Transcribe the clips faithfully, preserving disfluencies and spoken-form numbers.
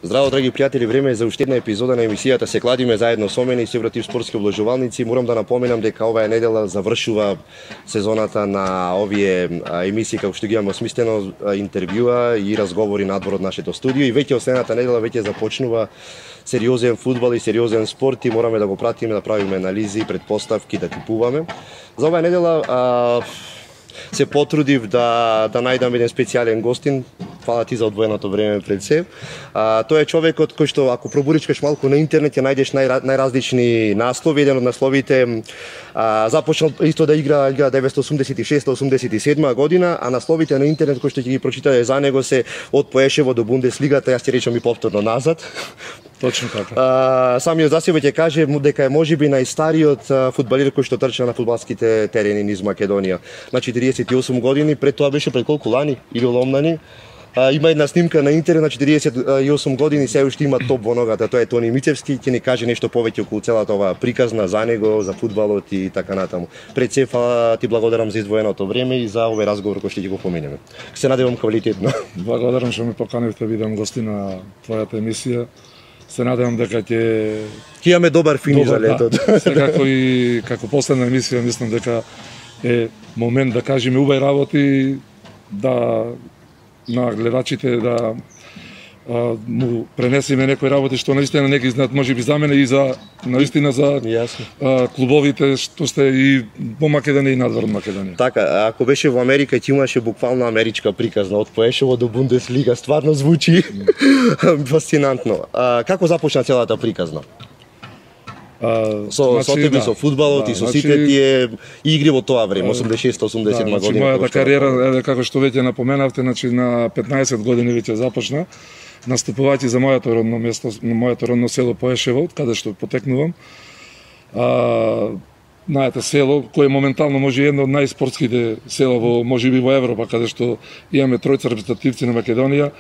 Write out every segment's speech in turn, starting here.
Здраво, драги пријатели, време е за уште една епизода на емисијата Се кладиме заедно со мене и се вратив спортски облажувалници. Морам да напоменам дека оваа недела завршува сезоната на овие емисии како што ги имаме осмислено интервјуа и разговори надвор од нашето студио и веќе следната недела веќе започнува сериозен фудбал и сериозен спорт и мораме да го пратиме, да правиме анализи, предпоставки, да типуваме. За оваа недела а, се потрудив да да најдам еден специјален гостин. Фала ти за одвоеното време пред се. А, тој е човекот кој што ако пробуричкаш малку на интернет ќе најдеш нај, најразлични наслови. Еден од насловите а, започнал исто да игра илјада деветстотини осумдесет и шеста осумдесет и седма година, а насловите на интернет кои што ќе ги прочитате за него се од Поешево до Бундеслигата, јас ќе речам и повторно назад. Точно така. А, самиот за себе ќе каже дека е можеби најстариот фудбалер кој што трча на фудбалските терени низ Македонија. На четириесет и осум години, пред тоа беше пред колку лани или ломнани. А, има една снимка на интернет на четириесет и осум години, се уште има топ во ногата, тоа е Тони Мицевски, ќе ни каже нешто повеќе околу целата оваа приказна за него, за фудбалот и така натаму. Пред се фала ти благодарам за издвоеното време и за овој разговор кој ќе го поминеме. Се надевам квалитетно. Благодарам што ме поканивте да бидам гостин на твојата емисија. Се надевам дека ќе ќе имаме добар финиш за летото. Да. Секако и како последна емисија мислам дека е момент да кажеме убави работи, да на гледачите да а, му пренесеме некои работи што наистина не ги знаат, можеби за мене и за наистина за а, клубовите што сте и во Македонија и надвор од Македонија. Така, ако беше во Америка ќе имаше буквално америчка приказна од Поешево до Бундеслига, стварно звучи фасцинантно. А, како започна целата приказна? А, со значи, со тебе, да, со фудбалот да, и со значи, сите тие игри во тоа време, осумдесет и шеста осумдесет и седма да, значи, година. мојата кариера, еве како што веќе напоменавте, значи на петнаесет години веќе започна, наступувајќи за моето родно место, моето родно село Поешево, каде што потекнувам. А, знаете, село кое моментално може едно од најспортските села во можеби во Европа, каде што имаме тројца репрезентативци на Македонија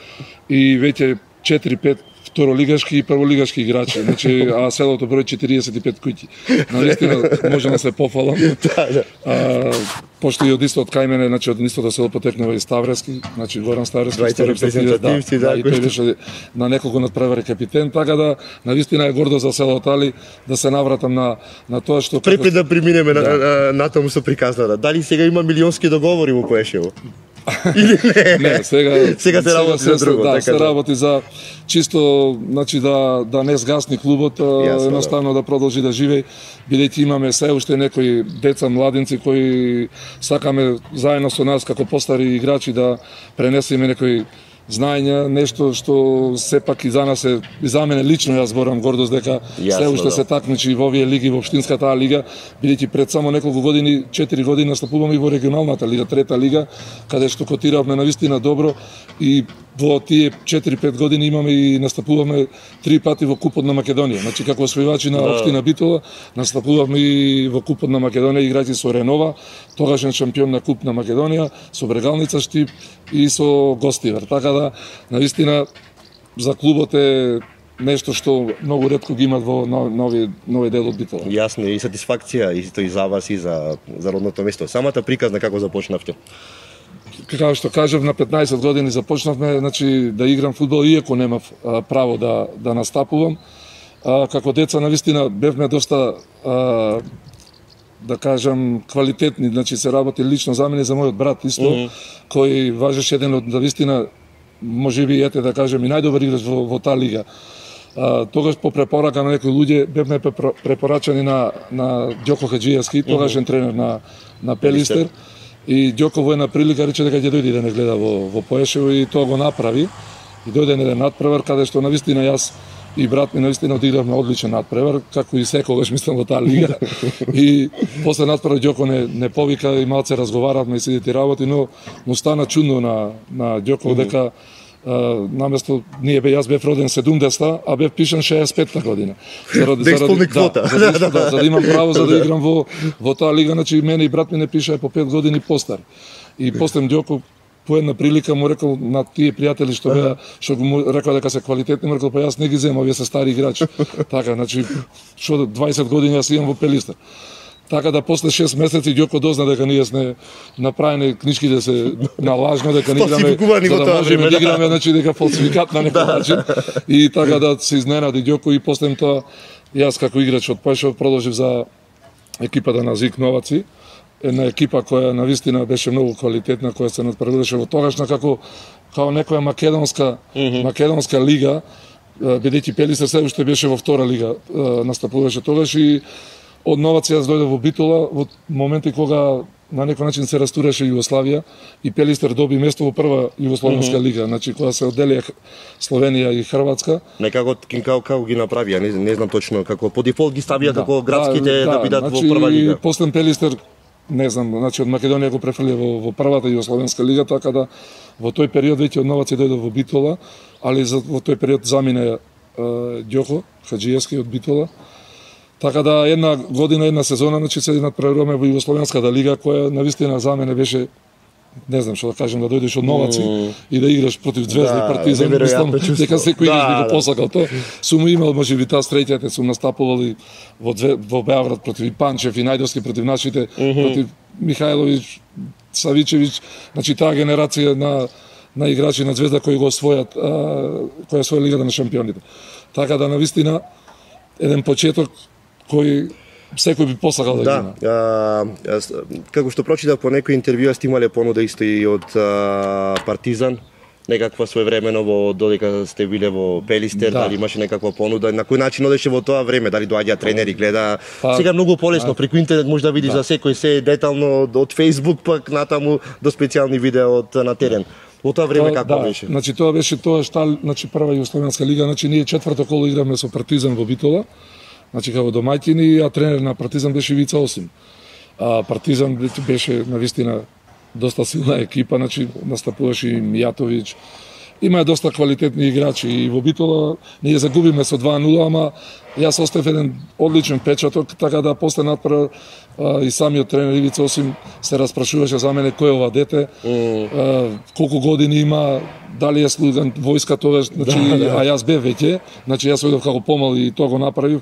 и веќе четири-пет второлигашки и прволигашки играчи, значи а селото број четириесет и пет куќи. Навистина можам да се пофалам. Да, да. А, пошто и од истот кај мене, значи од истото село потекнува и Ставрески, значи Горан Ставрески, двајца репрезентативци, да, да, и тој беше на неколку надпревари капитен, така да навистина е гордо за селото, али да се навратам на на тоа што Препред да преминеме да. на, на, на тому со приказната. Дали сега има милионски договори во Поешево? Или не? Не, сега сега се работи за друго, да, така се да. работи за чисто, значи да да не сгасни клубот, Јасно, едноставно да. да продолжи да живее, бидејќи имаме се уште некои деца, младинци кои сакаме заедно со нас како постари играчи да пренесеме некои знаења, нешто што сепак и за нас е, и за мене лично јас зборам гордост дека Јасно, се уште да. се такмичи во овие лиги, во општинската лига, бидејќи пред само неколку години, четири години настапуваме и во регионалната лига, трета лига, каде што котиравме навистина добро и во тие четири-пет години имаме и настапуваме три пати во Купот на Македонија. Значи како освојувачи на општина Битола, настапувавме и во Купот на Македонија играјќи со Ренова, тогашен шампион на Куп на Македонија, со Брегалница Штип и со Гостивар. Така да навистина за клубот е нешто што многу ретко ги имат во нови нови дел од Битола. Јасно, и сатисфакција исто и за вас и за за родното место. Самата приказна како започнавте? Како што кажав, на петнаесет години започнавме, значи да играм фудбал иако немав а, право да да настапувам. А, како деца навистина бевме доста а, да кажам квалитетни, значи се работи лично за мене и за мојот брат исто, mm -hmm. кој важеше еден од навистина можеби ете да кажем и најдобар играч во, во таа лига. А, тогаш по препорака на некои луѓе бевме препорачани на на Ѓоко Хаџијевски, тогашен mm -hmm. тренер на на Пелистер. И Ѓоко во една прилика рече дека ќе дојде да не гледа во во Поешево и тоа го направи. И дојде на еден надпревар каде што навистина јас и брат ми навистина одигравме одличен надпревар, како и секогаш мислам во таа лига. И после надпревар Ѓоко не не повика и малце разговаравме и сидите работи, но му стана чудно на на Ѓоко mm -hmm. дека Uh, наместо ние бе јас бев роден седумдесета, а бев пишан шеесет и петта година. Заради да исполни квота. Да, за, да, да, за да имам право за да играм во во таа лига, значи мене и брат ми не пишаа по пет години постар. И после Ѓоко по една прилика му рекол на тие пријатели што беа, што му рекол дека се квалитетни, му рекол па јас не ги земам, вие се стари играчи. Така, значи што дваесет години јас имам во Пелистер. Така да после шест месеци Ѓоко дозна дека ние сме направени книжките се налажно дека не играме за да можеме да играме, значи дека фалсификат на некој начин. И така да се изненади Ѓоко и после тоа јас како играч од Пајшов продолжив за екипата на Зик Новаци, една екипа која навистина беше многу квалитетна, која се надпреваруваше во тогашна како како некоја македонска mm -hmm. македонска лига, бидејќи Пелистер се уште беше во втора лига, настапуваше тогаш и од Новаци јас дојдов во Битола во моменти кога на некој начин се растураше Југославија и Пелистер доби место во прва југословенска mm -hmm. лига, значи кога се одделија Словенија и Хрватска. Некако како како ги направија, не, не знам точно како по дефолт ги ставија да, како градските да, да, да бидат значи, во прва лига. После Пелистер не знам, значи од Македонија го префрлија во, во првата југословенска лига, така да во тој период веќе од Новаци дојдов во Битола, али за, во тој период замина Ѓоко Хаџиевски од Битола. Така да една година, една сезона, значи се надпреваруваме во Југословенската лига, која навистина за мене беше, не знам што да кажем, да дојдеш од Новаци mm. и да играш против Звезда да, и Партизан, мислам дека секој играч да, би го посакал тоа. Сум имал можеби таа среќа, сум настапувал и во две, во Београд против Панчев и Најдовски против нашите, mm -hmm. против Михајловиќ, Савичевиќ, значи таа генерација на на играчи на Звезда кои го освојат, која освоја Лигата на шампионите. Така да навистина еден почеток кој секој би посакал да, да има. Да, како што прочитав по некои интервјуа сте имале понуда исто и од а, Партизан, некаква своевремено во додека сте биле во Пелистер, да. Дали имаше некаква понуда, на кој начин одеше во тоа време, дали доаѓа тренери, гледа. Па, сега многу полесно да. Преку интернет може да видиш да. За секој се детално од Facebook пак натаму до специјални видеа од на терен. Во тоа време како да, беше? Значи тоа беше тоа што значи прва југословенска лига, значи ние четврто коло играме со Партизан во Битола. Значи како домаќини, а тренер на Партизан беше Вица Осим. А Партизан беше навистина доста силна екипа, значи настапуваше и Мијатовиќ. Има доста квалитетни играчи и во Битола ние загубиме со два нула, ама јас оставив еден одличен печаток, така да после надпревар и самиот тренер Ивица Осим се распрашуваше за мене кој е ова дете, mm. а, колку години има, дали е слуган војска тогаш, значи да, да. А јас бев веќе, значи јас одев како помал и тоа го направив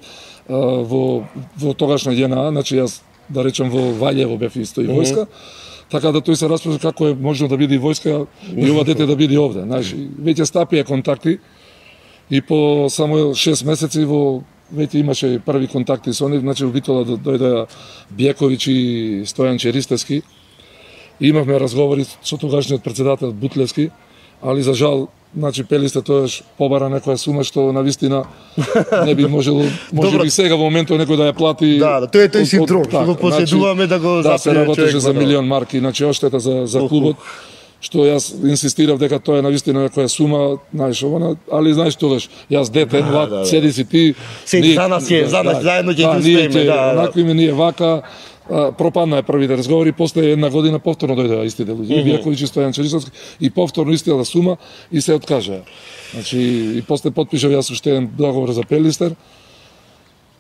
а, во во тогашна ЈНА, значи јас да речем во Ваљево бев исто и војска. Mm -hmm. Така да тој се распраша како е можно да биде и војска и ова дете да биде овде. Знаеш, веќе стапија контакти и по само шест месеци во веќе имаше први контакти со нив, значи во Битола дојдоа Бјековиќ и Стојан Черистевски. И имавме разговори со тогашниот претседател Бутлевски, али за жал, значи Пелистер тоаш побара некоја сума што навистина не би можело, може би сега во моментот некој да ја плати. Да, да, тој е тој синдром, што го поседуваме да го да се работеше за милион марки, значи оштета за за клубот, што јас инсистирав дека тоа е навистина некоја сума, знаеш, она, али знаеш тогаш, јас дете, млад, да, да, седи си ти. Седи за нас е, за нас заедно ќе ги успееме, да. Накви ми ние вака. А, пропадна е првите разговори, после една година повторно дојдоа истите луѓе, mm -hmm. Бјаковиќ и Стојан Черисовски, и повторно истата сума и се откажаа. Значи и после потпишав јас уште еден договор за Пелистер.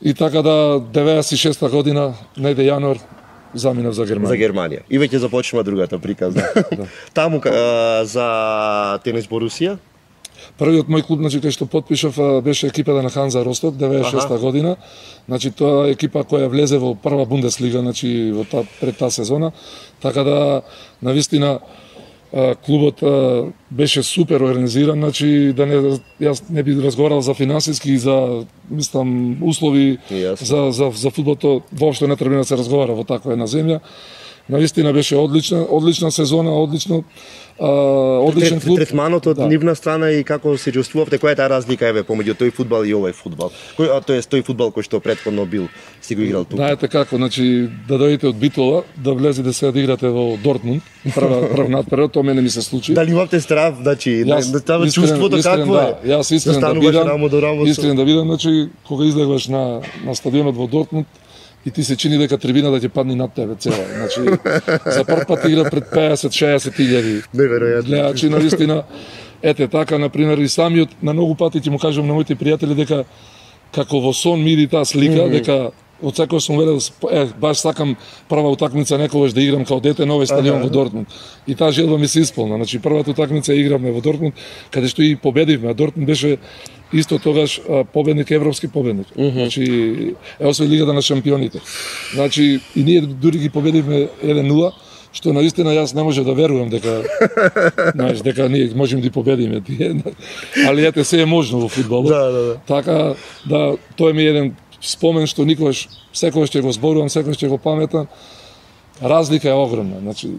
И така да деветдесет и шеста година, најде јануар, заминав за Германија. За Германија. И веќе започнува другата приказна. Да. Таму а, за Тенис Борусија. Првиот мој клуб, значи, кај што потпишав, беше екипата на Ханза Росток, деветдесет и шеста година. Значи, тоа е екипа која влезе во прва Бундеслига, значи, во та, пред таа сезона. Така да, навистина, клубот беше супер организиран, значи, да не, јас не би разговарал за финансиски и за, мислам, услови yes. за, за, за фудбалто, воопшто не треба да се разговара во таква една земја. Навистина беше одлична, одлична сезона, одлично, а, одличен клуб. Третманот од да. Нивна страна и како се чувствувавте, која е таа разлика еве помеѓу тој фудбал и овој фудбал? Кој, а тоа е тој фудбал кој што претходно бил, си го играл тука? Знаете како, значи да дојдете од Битола, да влезете се да играте во Дортмунд, прва прв надпревар, тоа мене ми се случи. Дали имавте страв, значи, тоа чувството какво да, е? Јас искрен да бидам, искрен да бидам, значи кога излегваш на на стадионот во Дортмунд, и ти се чини дека трибината ќе падне над тебе цела. Значи, за прв пат игра пред пеесет шеесет илјади. Неверојатно. Гледачи, навистина, ете така, например, и самиот, на многу пати ќе му кажам на моите пријатели дека како во сон ми иди таа слика, mm -hmm. дека од секој сум велел, е, баш сакам прва утакмица некогаш да играм као дете на овој стадион ага, во Дортмунд. И таа желба ми се исполна. Значи, првата утакмица игравме во Дортмунд, каде што и победивме, а Дортмунд беше исто тогаш а, победник европски победник. Mm -hmm. Значи е освои лигата на шампионите. Значи и ние дури ги победивме еден нула, што наистина јас не може да верувам дека знаеш дека ние можеме да победиме тие. Али ете се е можно во фудбалот. Да, да, да. Така да тоа ми е еден спомен што никогаш секогаш ќе го зборувам, секогаш ќе го паметам. Разлика е огромна, значи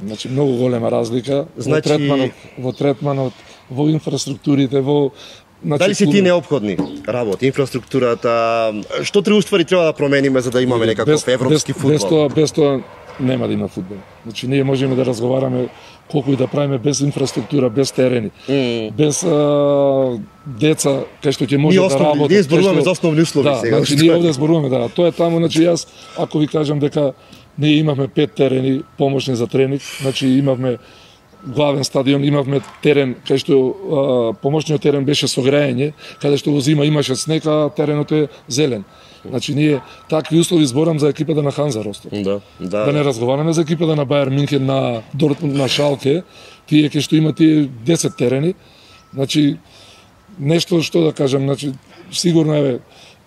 значи многу голема разлика Значи... во третманот, во третманот, во инфраструктурите, во значи, дали се ти неопходни работи, инфраструктурата, што треба уствари треба да промениме за да имаме некаков европски без, фудбал? Без тоа, без тоа нема да има фудбал. Значи ние можеме да разговараме колку и да правиме без инфраструктура, без терени, mm. без а, деца кај што ќе може да работат. Ние зборуваме за основни услови да, сега. Значи ние овде зборуваме да, тоа е таму, значи јас ако ви кажам дека ние имавме пет терени помошни за тренинг, значи имавме главен стадион, имавме терен кај што а, помошниот терен беше со грејење, каде што во зима имаше снег, а теренот е зелен. Значи ние такви услови зборам за екипата на Ханза Ростов. Да, да. Да не разговараме за екипата на Бајер Минхен, на Дортмунд, на Шалке, тие кај што има тие десет терени. Значи нешто што да кажам, значи сигурно е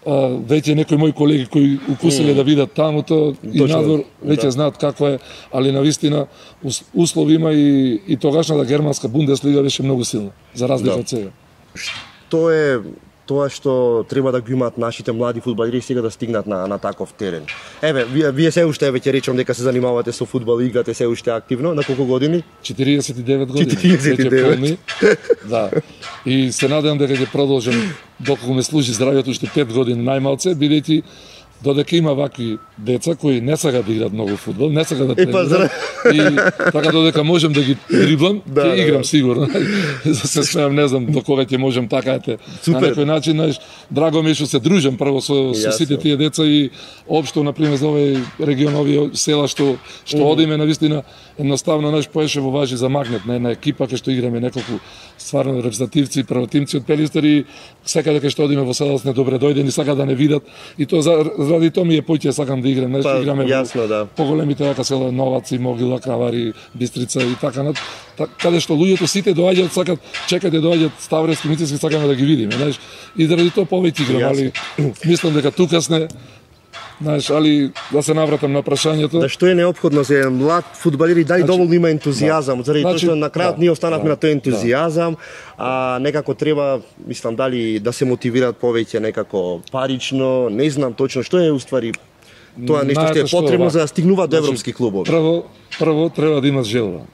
веќе некои мои колеги кои укусиле mm. да видат тамуто и надвор веќе да. знаат како е, али навистина услови има и, и тогашната германска Бундеслига беше многу силна, за разлика да. од сега. Што е тоа што треба да го имаат нашите млади фудбалери сега да стигнат на, на таков терен? Еве, вие, вие се уште веќе речам дека се занимавате со фудбал и играте се уште активно, на колку години? четириесет и девет години. четириесет и девет. Да. И се надевам дека ќе продолжам доколку ме служи здравието уште пет години најмалце, бидејќи додека има вакви деца кои не сакаат да играат многу фудбал, не сакаат да тренираат, и така додека можам да ги дриблам, да, ќе играм да. сигурно. За се смеам, не знам до кога ќе можам така ете. На некој начин, знаеш, драго ми е што се дружам прво со, со сите тие деца и општо на пример за овој регион, овие села што што mm -hmm. одиме навистина едноставно наш поеше во важи за магнет на една екипа кај што играме неколку стварно репрезентативци, првотимци од Пелистер и секаде кај што одиме во село сме добре дојдени, сака да не видат и тоа за заради тоа ми е поќе сакам да играм, нешто па, играме јасно, во да. поголемите вака села Новаци, Могила, Кавари, Бистрица и така над каде што луѓето сите доаѓаат, сакат, чекаат да доаѓаат Ставрески, Мицински, сакаме да ги видиме, знаеш. И заради тоа повеќе играм, али мислам дека тука сме, знаеш, али да се навратам на прашањето. Да, што е неопходно за еден млад фудбалер и дали значи, доволно има ентузијазам, да. заради значи, тоа што на крајот да, ние останавме да, на тој ентузијазам, да. а некако треба, мислам, дали да се мотивираат повеќе некако парично, не знам точно што е уствари тоа нешто што е потребно за да стигнуваат до европски клубови. Прво, прво треба да имаш желба.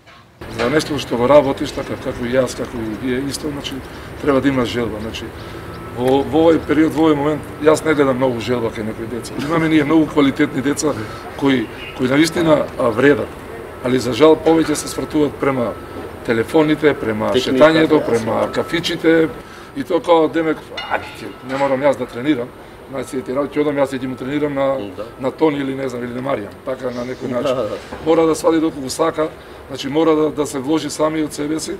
За нешто што го работиш така како и јас, како и вие исто, значи треба да имаш желба, значи Во, во овој период, во овој момент, јас не гледам многу желба кај некои деца. Имаме ние многу квалитетни деца кои кои навистина вредат, али за жал повеќе се свртуваат према телефоните, према Техника, шетањето, према кафичите и тоа како демек, ајде, не морам јас да тренирам, значи ти работи одам јас ќе му тренирам на да. на Тони или не знам или на Маријан, така на некој начин. Да, да. Мора да свади доколку сака, значи мора да, да се вложи сами од себе си.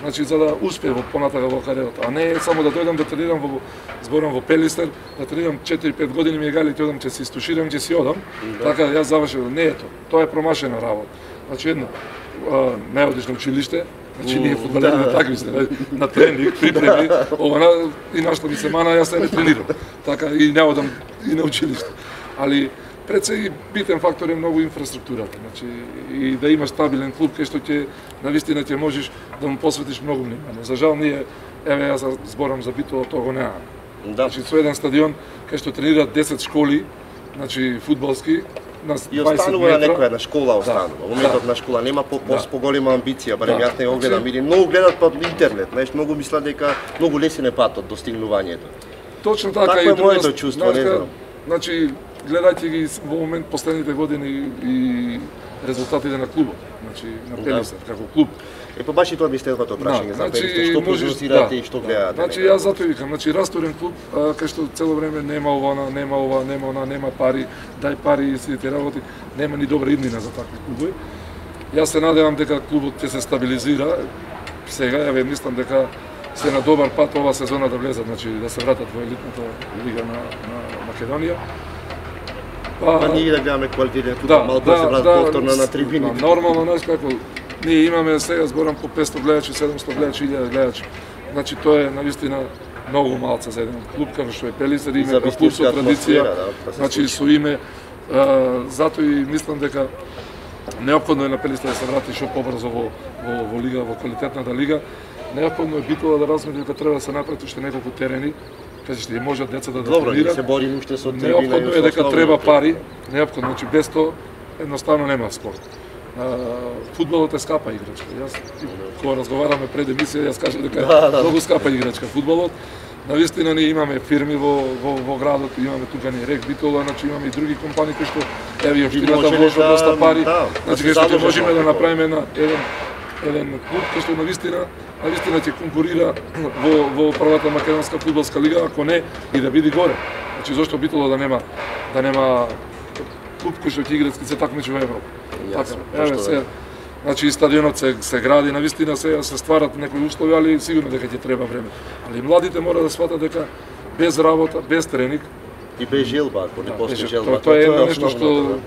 Значи за да успее во понатака во кариерата, а не само да дојдам да тренирам во зборам во Пелистер, да тренирам четири-пет години ми е гали, ќе одам ќе се истуширам, ќе си одам. Да. Така јас завршив, не е тоа. Тоа е промашена работа. Значи едно, а, не одиш на училиште, значи ние фудбалери на такви сте, на тренинг, припреми, ова на и нашто ми се мана, јас не тренирам. Така и не одам и на училиште. Али пред се и битен фактор е многу инфраструктурата, значи и да имаш стабилен клуб кај што ќе навистина ќе можеш да му посветиш многу внимание. За жал ние, еве јас зборам за Битола, тоа го нема. Да. Значи со еден стадион кај што тренираат десет школи, значи фудбалски, на дваесет метра. И останува на некоја на школа останува. Да. Во моментот да. на школа нема по да. поголема амбиција, барем да. јас не го гледам. Или многу гледат па интернет, знаеш, многу мислат дека многу лесен е патот до стигнувањето. Точно така, така и е моето чувство, не знам. Значи гледајќи ги во момент последните години и резултатите на клубот, значи на Пелистер да. како клуб. Е па баш и тоа ми следвато прашање да, за Пелистер, што прогнозирате да, и што гледате? Значи јас затоа викам, значи растурен клуб а, кај што цело време нема ова, нема ова, нема она, нема пари, дај пари и сите работи, нема ни добра иднина за такви клубови. Јас се надевам дека клубот ќе се стабилизира. Сега ја мислам дека се на добар пат ова сезона да влезат, значи да се вратат во елитната лига на, на Македонија. Па, па ние да гледаме квалитетен фудбал, да, малку да се вратат да, повторно на трибините. Да, нормално, знаеш како, ние имаме сега зборам по петсто гледачи, седумсто гледачи, илјада гледачи. Значи тоа е навистина многу малце за еден клуб како што е Пелистер, име за клуб со традиција, да, да значи со име, а, затоа и мислам дека неопходно е на Пелистер да се врати што побрзо во, во, во лига, во квалитетната лига. Неопходно е битола да размисли дека треба да се направи уште неколку терени, кажете, може децата да Добро, тренираат. се борим уште со трибина. Неопходно е дека треба пари, неопходно, значи без тоа едноставно нема спорт. А, фудбалот е скапа играчка. Јас кога разговараме пред емисија, јас кажам дека да, да, многу скапа играчка фудбалот. Навистина ние имаме фирми во, во, во градот, имаме тука ни Рек Битола, значи имаме и други компании кои што еве и општината вложува да, доста пари. да, значи да што ќе можеме можеме да направиме на еден еден клуб кој што навистина навистина ќе конкурира во во првата македонска фудбалска лига, ако не и да биде горе. Значи зошто Битола да нема да нема клуб кој што ќе игра се такмичи во Европа. Јасно, Така, еве се значи и стадионот се се гради, навистина се се стварат некои услови, али сигурно дека ќе треба време. Али младите мора да сватат дека без работа, без тренинг и без желба, ако не да, постои без- желба. Тоа е едно нешто основното, што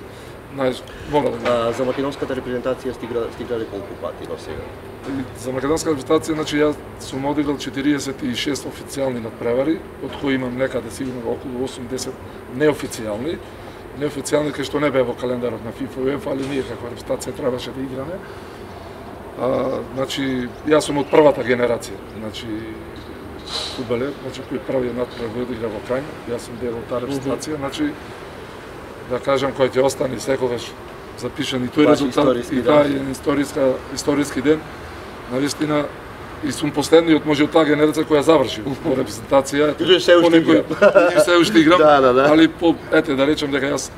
знаеш, мора да го. А, за македонската репрезентација стигра стигнале колку пати до сега? И за македонска репрезентација, значи јас сум одиграл четириесет и шест официјални надпревари, од кои имам некаде сигурно околу осумдесет неофицијални. Неофицијални кај што не беа во календарот на ФИФА и УЕФА, али ние каква репрезентација требаше да играме. А, значи, јас сум од првата генерација, значи фудбалер, значи кој првиот надпревар одигра во Крајна, јас сум дел од таа репрезентација, значи да кажам кој ќе остане секогаш запишан и тој Баш резултат историски и ден. таа е историска историски ден. Навистина и сум последниот може од таа генерација која заврши во репрезентација. Ти се уште Понекој- и се уште играм. Да, да, да. Али по ете да речем дека јас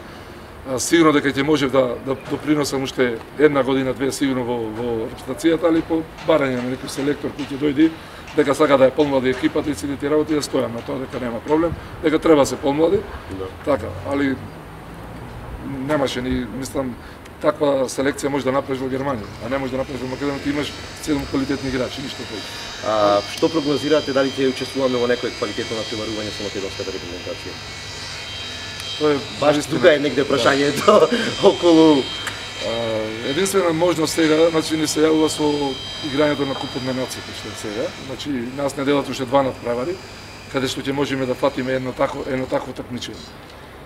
а, сигурно дека ќе можев да да допринесам уште една година две сигурно во во репрезентацијата, али по барање на некој селектор кој ќе дојде дека сака да е помлади екипата и сите тие работи, да стојам на тоа дека нема проблем, дека треба да се помлади. Да. Така, али немаше ни, мислам, таква селекција може да направиш во Германија, а не може да направиш во Македонија, ти имаш седум квалитетни играчи, ништо повеќе. А, што прогнозирате, дали ќе учествуваме во некое квалитетно натпреварување со македонската репрезентација? Тоа е Баш навистина- тука е негде прашањето околу А, единствена можност сега, значи ни се јавува со играњето на Купот на нациите што е сега. Значи нас не делат уште два надпревари, каде што ќе можеме да фатиме едно тако едно такво такмичење.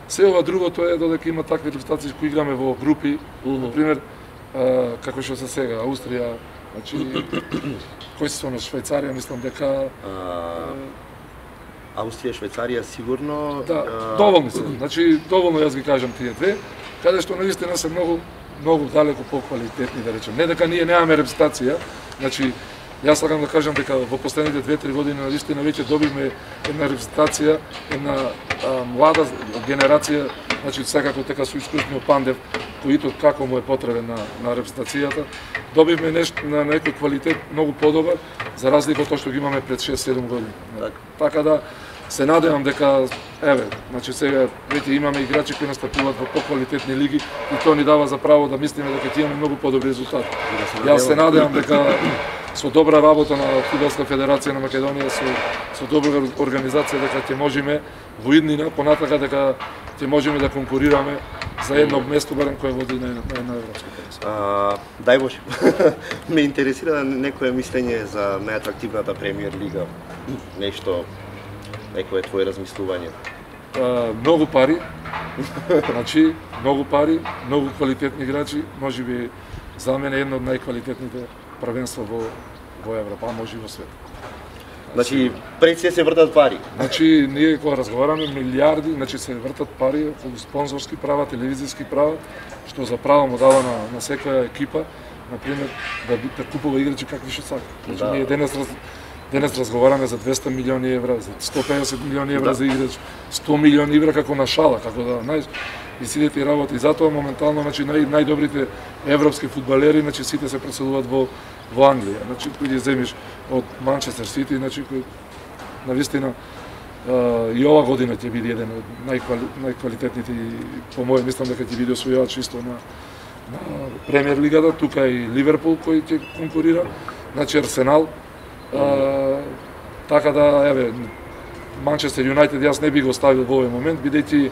Се ова другото е додека има такви репрезентации кои играме во групи, на пример а, како што се сега Аустрија, значи кои се со Швајцарија, мислам дека а, Австрија, Швајцарија сигурно. да, а, доволни се. Значи доволно јас ги кажам тие две, каде што навистина се многу многу далеку поквалитетни, да речем. Не дека ние немаме репрезентација, значи јас сакам да кажам дека во последните две-три години навистина веќе добивме една репрезентација, една а, млада генерација, значи секако дека со искусниот Пандев, кој итот како му е потребен на на репрезентацијата, добивме нешто на некој квалитет многу подобар за разлика од тоа што ги имаме пред шест-седум години. Так. Така да се надевам дека еве, значи сега веќе имаме играчи кои настапуваат во поквалитетни лиги и тоа ни дава за право да мислиме дека ќе имаме многу подобри резултати. Да Јас се надевам дека со добра работа на Фудбалска федерација на Македонија, со со добра организација дека ќе можеме во иднина понатака дека ќе можеме да конкурираме за едно место барем кое води на на една европска првенство. А, дај Боже, ме интересира некое мислење за најатрактивната премиер лига. Нешто, некое твое размислување. А, многу пари, значи многу пари, многу квалитетни играчи, можеби за мене едно од најквалитетните првенства во во Европа, а може и во свет. Значи, пред се се вртат пари. Значи ние кога разговараме милиарди, значи се вртат пари околу спонзорски права, телевизиски права, што за право му дава на на секоја екипа, на пример да да купува играчи какви што сака. Значи Да. ние денес раз, денес разговараме за двесте милиони евра, за сто и педесет милиони евра Да. за играч, сто милиони евра како на шала, како да знаеш, и сите тие работи. И затоа моментално значи нај најдобрите европски фудбалери, значи сите се преселуваат во во Англија. Значи кој ги земиш од Манчестер Сити, значи кој навистина Uh, и ова година ќе биде еден од најквали, најквалитетните и по моје мислам дека ќе биде освојувач исто на на премиер лигата, тука и Ливерпул кој ќе конкурира, значи Арсенал. Uh, така да еве Манчестер Юнајтед јас не би го оставил во овој момент бидејќи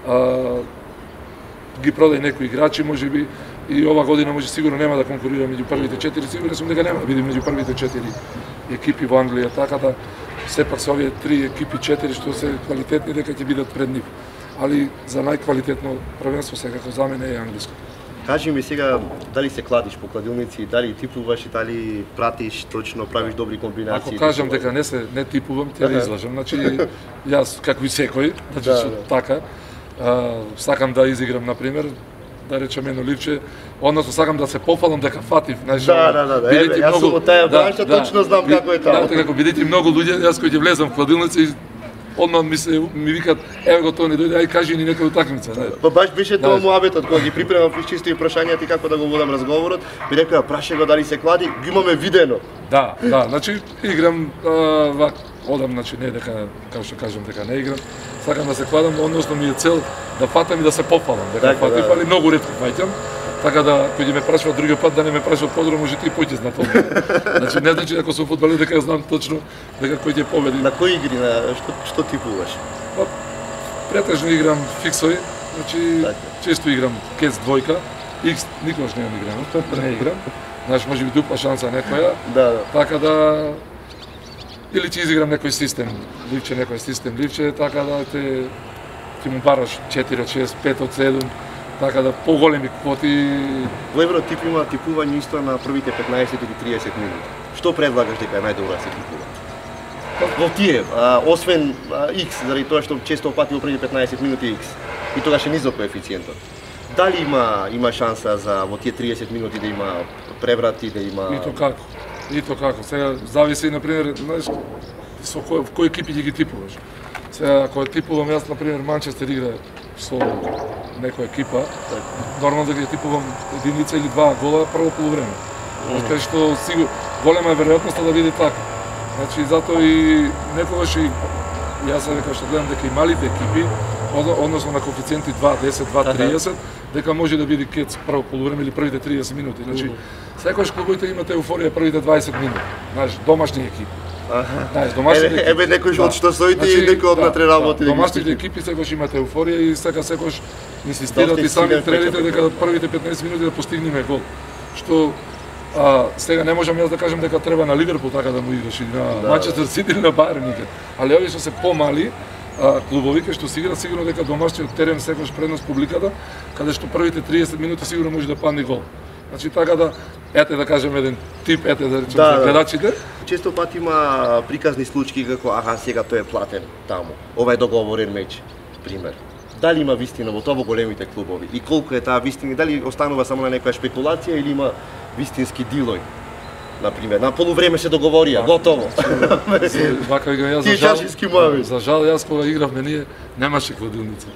uh, ги продај некои играчи можеби и ова година може сигурно нема да конкурира меѓу првите четири, сигурен сум дека нема да биде меѓу првите четири екипи во Англија, така да сепак се овие три екипи, четири што се квалитетни, дека ќе бидат пред нив. Али за најквалитетно првенство секако за мене е англиско. Кажи ми сега, дали се кладиш по кладилници, дали типуваш и дали пратиш точно, правиш добри комбинации? Ако кажам дека не се не типувам, ќе ја излажам. Значи јас како и секој, значи да, што да. така, а, сакам да изиграм на пример, да речем едно ливче, односно сакам да се пофалам дека фатив, знаеш. Да, да, да, да. Еве, јас сум од таја бранша, точно знам како е тоа. Да, како бидејќи многу луѓе, јас кој ќе влезам в кладилница и одмah ми се ми викат, еве го Тони, дојде, ај кажи ни некоја утакмица, знаеш. Па баш беше тоа муабетот кога ги припремав чисто и прашањата и како да го водам разговорот, ми рекоа праша го дали се клади, ги имаме видено. Да, да, значи играм а, вак, одам, значи не дека како што кажам дека не играм, сакам да се кладам, односно ми е цел да фатам и да се пофалам, дека така, фатам, да. али многу ретко фаќам. Така да, кој ме прашува другиот пат да не ме прашува подробно, може ти поќе знат тоа. Значи не значи ако сум фудбалер дека ја знам точно дека кој ќе победи. На кои игри, на што што типуваш? Па претежно играм фиксој, значи така. често играм кец двојка, икс никогаш не играм, не играм. Знаеш, може би дупла шанса некоја. Да, да. Така да или ќе изиграм некој систем, ливче некој систем, ливче, така да те ќе му бараш четири од шест, пет од седум. Така да поголеми квоти. Во Евротип има типување исто на првите петнаесет или триесет минути. Што предлагаш дека е најдобро да се типува? Во тие, а, освен а, X, заради тоа што често пати во првите петнаесет минути X, и тогаш е низок коефициентот. Дали има има шанса за во тие триесет минути да има преврати, да има И то како? И то како? Сега зависи на пример, знаеш, со кој кој екипи ги типуваш. Сега ако типувам јас на пример Манчестер игра со некоја екипа, нормално да ги типувам единица или два гола прво полувреме. Кај што сигурно голема е веројатноста да биде така. Значи затоа и некогаш и јас дека што гледам дека и малите екипи, односно на коефициенти два десет, два триесет, дека може да биде кец прво полувреме или првите триесет минути. Значи секогаш клубовите имат еуфорија првите дваесет минути. Знаеш, домашни екипи. Знаеш, домашните екипи. Еве некој од што соите и некој од натре работи. Домашните екипи секогаш имаат еуфорија и сега секогаш инсистираат и сами тренерите дека првите петнаесет минути да постигнеме гол. Што а, сега не можам јас да кажам дека треба на Ливерпул така да му играш или на Манчестер Сити или на Бајерн никад. Али овие што се помали а, клубови кои што си играат сигурно дека домашниот терен секогаш предност публиката, каде што првите триесет минути сигурно може да падне гол. Значи така да ете да кажем еден тип, ете да речем да, за гледачите. Често пати има приказни случаи како аха сега тој е платен таму. Ова е договорен меч, пример. Дали има вистина во тоа во големите клубови и колку е таа вистина, дали останува само на некоја шпекулација или има вистински дилој? На пример, на полувреме се договорија, готово. Вака игра јас за жал. За жал јас кога игравме ние немаше кладилница.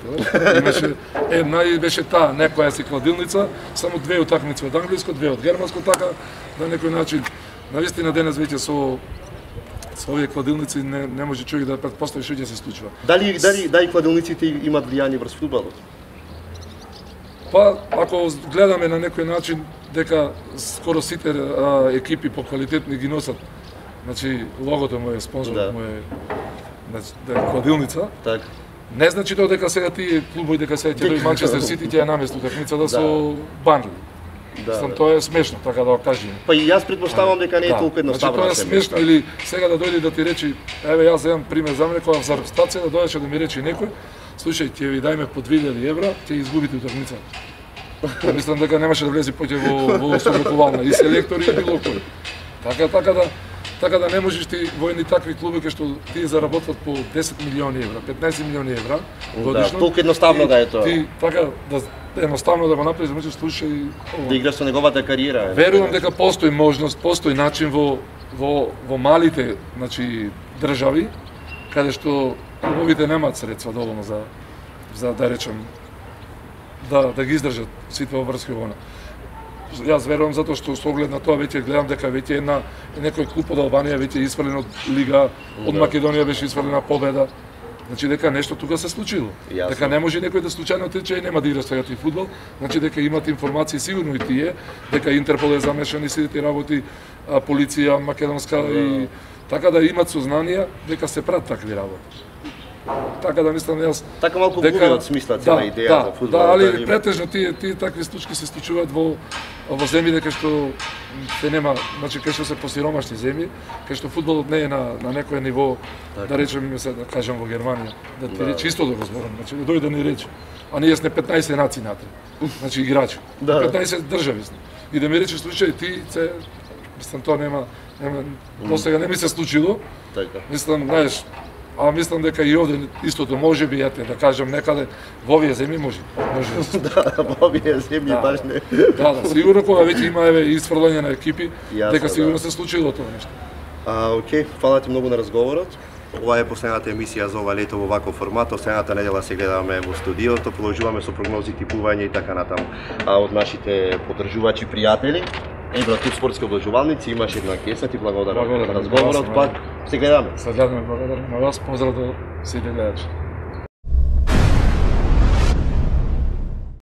Имаше една и беше таа некоја си кладилница, само две утакмици од англиско, две од германско, така на некој начин. Навистина денес веќе со со овие кладилници не, не може човек да претпостави што ќе се случува. Дали дали дали кладилниците имаат влијание врз фудбалот? Па ако гледаме на некој начин дека скоро сите а, екипи по квалитетни ги носат. Значи логото му е спонзор, да. му е значи, да е кладилница. Так. Не значи тоа дека сега тие клубови дека сега ќе дојде Манчестер Сити ќе ја намести утакмицата со Банли. Да, Сам, тоа е смешно, така да го кажем. Па и јас предпоставам дека не е да. толку едноставно. Значи, тоа е смешно или сега да дојде да ти речи, еве јас земам пример за мене кога за репстација да дојдеше да ми рече некој, слушај, ќе ви дајме по две илјади евра, ќе изгубите утакмица. Мислам дека немаше да влезе поќе во во сорокувална и селектори и било кој. Така така да така да не можеш ти во едни такви клуби кај што ти заработват по десет милиони евра, петнаесет милиони евра годишно. Да, толку едноставно да е тоа. Ти така да едноставно да го направиш, да можеш слушај да играш со неговата кариера. Верувам дека постои можност, постои начин во во во малите, значи држави каде што клубовите немаат средства доволно за за да речем да да ги издржат сите обврски во она. Јас верувам затоа што со оглед на тоа веќе гледам дека веќе една некој клуб од Албанија веќе е испрлен од лига, од Македонија беше испрлена победа. Значи дека нешто тука се случило. Јасно. Дека не може некој да случајно отрече и нема да игра сега тој фудбал. Значи дека имат информации сигурно и тие, дека Интерпол е замешан и сите тие работи, а, полиција македонска и така да имат сознание дека се прават такви работи. така да мислам јас. Така малку губи од смисла цела да, идеја да, за фудбал. Да, али да, претежно тие тие такви случаи се случуваат во во земји кај што се нема, значи кај што се посиромашни земји, кај што фудбалот не е на на некој ниво, така. Да речеме се да кажам во Германија, да ти да. речи исто да го зборам, значи да дојде да ни рече. А ние сме петнаесет нации натре. Значи играчи. Да. петнаесет држави сме. И да ми рече случај ти се мислам тоа нема нема до сега не ми се случило. Така. Мислам, знаеш, а мислам дека и овде истото може би, јате да кажам некаде во овие земји може. Може. Да, во овие земји да. баш не. Да, да, сигурно кога веќе има еве исфрлање на екипи, Јасно, дека сигурно да. се случило тоа нешто. А, окей, фала ти многу на разговорот. Ова е последната емисија за ова лето во ваков формат. Следната недела се гледаме во студиото, продолжуваме со прогнози, типување и така натаму. А од нашите поддржувачи, пријатели, Евротип спортски облажувалници, имаш една кеса, ти благодарам на разговорот, пак се гледаме. Се гледаме, благодарам на вас, поздрав до сите гледачи.